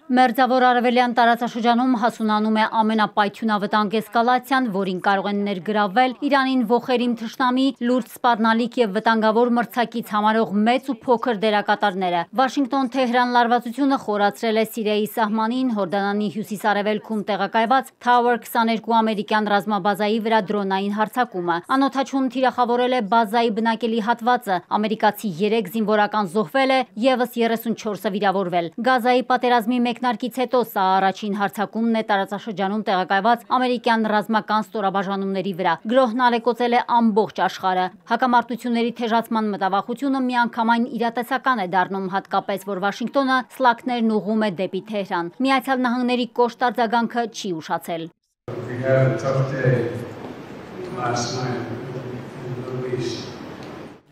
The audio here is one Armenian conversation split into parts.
Մերձավոր արևելյան տարածաշրջանում հասունանում է ամենապայթյունավտանգ էսկալացիան, որին կարող են ներգրավվել Իրանին ոխերիմ թշնամի, լուրջ սպառնալիք եւ վտանգավոր մրցակից համարող մեծ ու փոքր դերակատարները։ Վաշինգտոն-Թեհրան լարվածությունը խորացրել է Սիրիայի սահմանին Հորդանանի հյուսիս-արևելքում տեղակայված Tower 22 ամերիկյան ռազմաբազայի վրա դրոնային հարձակումը։ Անօդաչուն թիրախավորել է բազայի բնակելի հատվածը, ամերիկացի 3 զինվորական զոհվել է, եւս 34-ը վիրավորվել։ Գազայի պատերազմի մեկնարկից հետո սա առաջին հարձակումն է տարածաշրջանում տեղակայված ամերիկյան ռազմական ստորաբաժանումների վրա։ Գրոհն ալեկոծել է ամբողջ աշխարհը։ Հակամարտությունների թեժացման մտավախությունը միանգամայն իրատեսական է դառնում, հատկապես որ Վաշինգտոնը սլաքներն ուղղում է դեպի Թեհրան։ Միացյալ Նահանգների կոշտ արձագանքը չի ուշացել։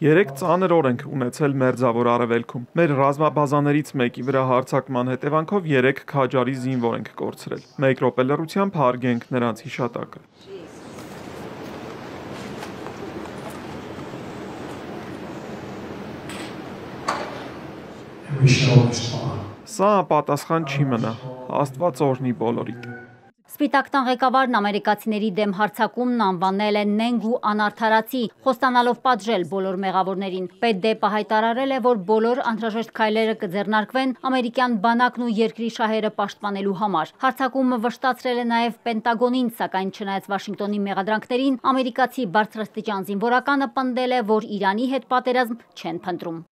Երեք ծանր օր ենք ունեցել Մերձավոր Արևելքում։ Մեր ռազմաբազաներից մեկի վրա հարձակման հետևանքով 3 քաջարի զինվոր ենք կորցրել։ Մեկ րոպե լռությամբ հարգենք նրանց հիշատակը։ Սա պատասխան չի մնա։ Աստված օրհնի բոլորիդ։ Սպիտակ տան ղեկավարն ամերիկացիների դեմ հարձակումն անվանել է նենգ ու անարդարացի, խոստանալով պատժել բոլոր մեղավորներին։ Պետդեպը հայտարարել է, որ բոլոր անհրաժեշտ քայլերը կձեռնարկվեն ամերիկյան բանակն ու երկրի շահերը պաշտպանելու համար։ Հարձակումը վշտացրել է նաև Պենտագոնին, սակայն չնայած Վաշինգտոնի մեղադրանքներին, ամերիկացի բարձրաստիճան զինվորականը պնդել է, որ Իրանի հետ պատերազմ չեն փնտրում։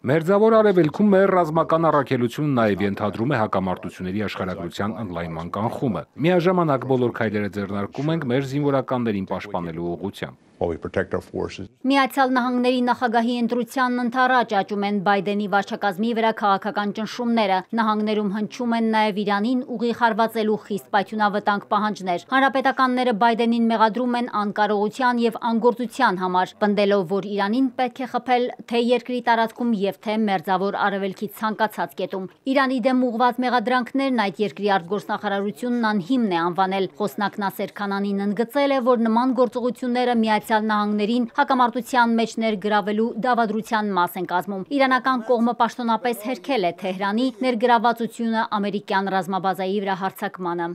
Մերձավոր Արևելքում մեր ռազմական առաքելությունը նաև ենթադրում է հակամարտությունների աշխարհագրության ընդլայնման կանխումը։ Միաժամանակ բոլոր քայլերը ձեռնարկում ենք մեր զինվորականներին պաշտպանելու ուղղությամբ։ Միացյալ Նահանգների նախագահի ընտրությանն ընդառաջ աճում են Բայդենի վարչակազմի վրա քաղաքական ճնշումները։ Նահանգներում հնչում են նաև Իրանին ուղիղ հարվածելու խիստ պայթյունավտանգ պահանջներ։ Հանրապետականները Բայդենին մեղադրում են անկարողության եւ անգործության համար, պնդելով, որ Իրանին պետք է խփել թե երկրի տարածքում եւ թե Մերձավոր Արևելքի ցանկացած կետում։ Իրանի դեմ ուղղված մեղադրանքներն այդ երկրի արտգործնախարարությունն անհիմն է անվանել։ Խոսնակ Նասեր Քանանին ընդգծել է, որ նման գործողությունները Միացյալ Նահանգներին հակամարտության մեջ ներգրավելու դավադրության մաս են կազմում։ Իրանական կողմը պաշտոնապես հերքել է Թեհրանի ներգրավվածությունը ամերիկյան ռազմաբազայի վրա հարձակմանը։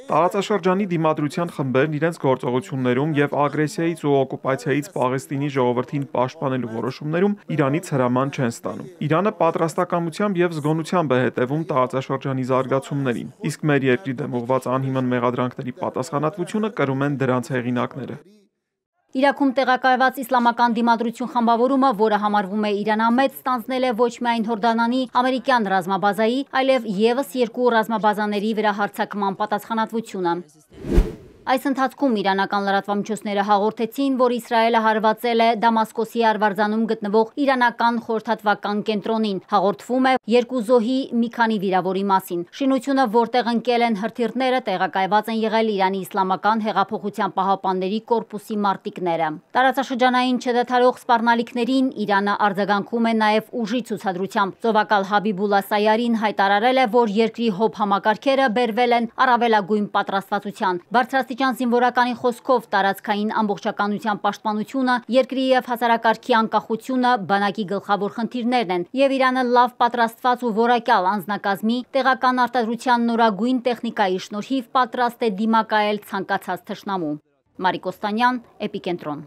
Տարածաշրջանի դիմադրության խմբերն իրենց գործողություններում եւ ագրեսիայից ու օկուպացիայից Պաղեստինի ժողովրդին պաշտպանելու որոշումներում Իրանից հրաման չեն ստանում։ Իրանը պատրաստակամությամբ եւ զգոնությամբ է հետևում տարածաշրջանի զարգացումներին, իսկ մեր երկրի դեմ ուղղված անհիմն մեղադրանքների պատասխանատվությունը կրում են դրանց հեղինակները։ Իրաքում տեղակայված իսլամական դիմադրություն խմբավորումը, որը համարվում է իրանամետ, ստանձնել է ոչ միայն Հորդանանի ամերիկյան ռազմաբազայի, այլև եւս 2 ռազմաբազաների վրա հարձակման պատասխանատվությունը։ Այս ընթացքում իրանական լրատվամիջոցները հաղորդեցին, որ Իսրայելը հարվածել է Դամասկոսի արվարձանում գտնվող իրանական խորհրդատվական կենտրոնին։ Հաղորդվում է 2 զոհի մի քանի վիրավորի մասին։ Շինությունը, որտեղ ընկել են հրթիռները, տեղակայված են եղել Իրանի Իսլամական հեղափոխության պահապանների կորպուսի մարտիկները։ Տարածաշրջանային չդադարող սպառնալիքներին Իրանը արձագանքում է նաև ուժի ցուցադրությամբ։ Ծովակալ Հաբիբուլլա Սայարին հայտարարել է, որ երկրի հոբ համակարգերը բերվել են առավելագույն պատրաստվածության։ Զինվորականի խոսքով տարածքային ամբողջականության պաշտպանությունը, երկրի եւ հասարակարգի անկախությունը բանակի գլխավոր խնդիրներն են, եւ Իրանը լավ պատրաստված ու որակյալ անձնակազմի, տեղական արտադրության նորագույն տեխնիկայի շնորհիվ պատրաստ է դիմակայել ցանկացած թշնամու։ Մարիկ Օստանյան, Էպիկենտրոն։